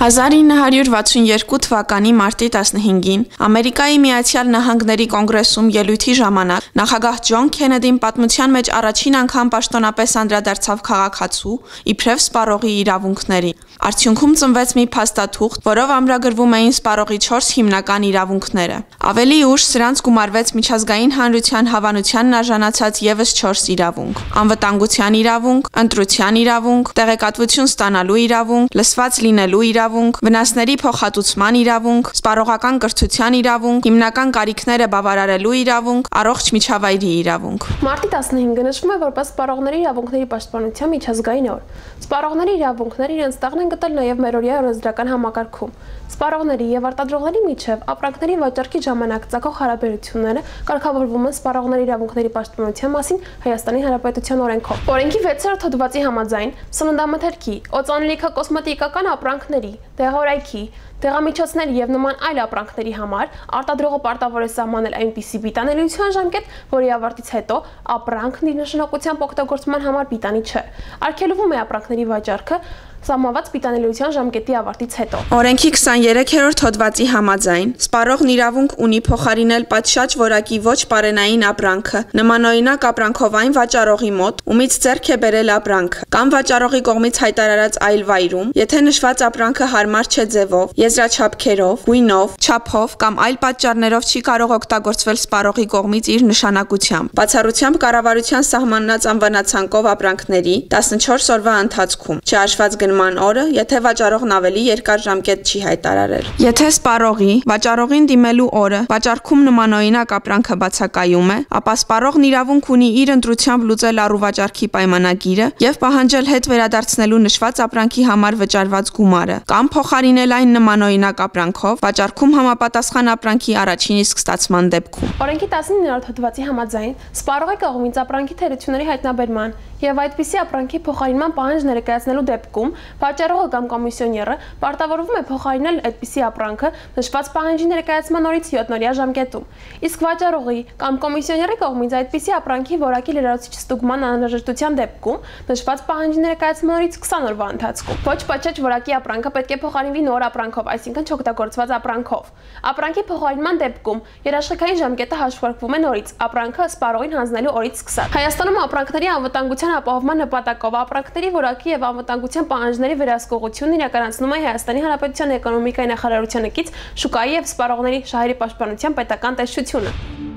1962 թվականի մարտի 15-ին Ամերիկայի Միացյալ Նահանգների կոնգրեսում ելույթի ժամանակ նախագահ Ջոն Քենեդին պատմության մեջ առաջին անգամ պաշտոնապես անդրադարձավ քաղաքացու իբրև սպառողի իրավունքներին։ Արդյունքում ծնվեց մի փաստաթուղթ, որով ամրագրվում էին սպառողի 4 հիմնական իրավունքները։ Ավելի ուշ սրանց գումարվեց միջազգային հանրության հավանությանն արժանացած ևս 4 իրավունք՝ անվտանգության իրավունք, ընտրության իրավունք, տեղեկատվություն ստանալու իրավունք, լսված լինելու իրավունք, վնասների փոխհատուցման իրավունք, սպառողական կրթության իրավունք, հիմնական կարիքները բավարարելու իրավունք, առողջ միջավայրի իրավունք։ Մարտի 15-ը նշվում է որպես սպառողների իրավունքների պաշտպանության միջազգային օր։ Սպառողների իրավունքները իրենց տեղն են գտել նաև մերօրյա օրենսդրական համակարգում։ Սպառողների եւ արտադրողների միջև ապրանքների վաճառքի ժամանակ ծագող հարաբերությունները կարգավորվում են սպառողների իրավունքների պաշտպանության մասին Հայաստանի Հանրապետության օրենքով։ Օրենքի 6-րդ հոդվածի համաձայն սննդամթերքի, օծանելիքակոսմետիկական ապրանքների, դեղորայքի, դեղամիջոցների եւ նման այլ ապրանքների համար արտադրողը պարտավոր է սահմանել այնպիսի պիտանելիության ժամկետ, որի ավարտից հետո ապրանքն իր նշանակությամբ օգտագործման համար պիտանի չէ։ Արգելվում է ապրանքների վաճառքը սահմանված պիտանելիության ժամկետի ավարտից հետո։ Օրենքի 23-րդ հոդվածի համաձայն սպառողն իրավունք ունի փոխարինել պատշաճ որակի ոչ պարենային ապրանքը նմանօրինակ ապրանքով այն վաճառողի մոտ, ումից ձեռք է բերել ապրանքը, կամ վաճառողի կողմից հայտարարած այլ վայրում, եթե նշված ապրանքը հարմար չէ ձևով, եզրաչափքերով, գույնով, չափով կամ այլ պատճառներով չի կարող օգտագործվել սպառողի կողմից իր նշանակությամբ։ Բացառությամբ կառավարության սահմանած անվնացանկով ապրանքների 14 օրվա ընթացքում, չհաշված գնման օրը, եթե վաճառողն ավելի երկար ժամկետ չի հայտարարել։ Եթե սպառողի վաճառողին դիմելու օրը վաճառքում նմանօրինակ ապրանքը բացակայում է, ապա սպառողն իրավունք ունի իր ընտրությամբ լուծել առուվաճառքի պայմանագիրը եւ պահանջել հետ վերադարձնելու նշված ապրանքի համար վճարված գումարը կամ փոխարինել այն նմանօրինակ ապրանքով վաճառքում համապատասխան ապրանքի առաջին իսկ ստացման դեպքում։ Օրենքի 19-րդ հոդվածի համաձայն սպառողի կողմից ապրանքի թերությունների հայտնաբերման եւ այդպիսի ապրանքի փոխարինման պահանջ ներկայացնելու դեպքում վաճառողը կամ կոմիսիոները պարտավորվում է փոխարինել այդպիսի ապրանքը նշված պահանջի ներկայացման օրից 7-օրյա ժամկետում։ Իսկ վաճառողի կամ կոմիսիոների կողմից այդպիսի ապրանքի որակի լրացուցիչ ստուգման անհրաժեշտության դեպքում նշված պահանջի ներկայացման օրից 20 օրվա ընթացքում։ Ոչ պատշաճ որակի ապրանքը պետք է փոխարինվի նոր ապրանքով, այսինքն չօգտագործված ապրանքով։ Ապրանքի փոխարինման դեպքում երաշխիքային ժամկետը հաշվարկվում է նորից ապրանքը սպառողին հանձնելու օրից սկսած։ Հայաստանում ապրանքների անվտանգության ապահովման նպատակով ապրանքների որակի եւ անվտանգության պահանջների վերահսկողությունն իրականացնում է Հայաստանի Հանրապետության էկոնոմիկայի նախարարության կից շուկայի եւ սպառողների շահերի պաշտպանության պետական տեսչությունը։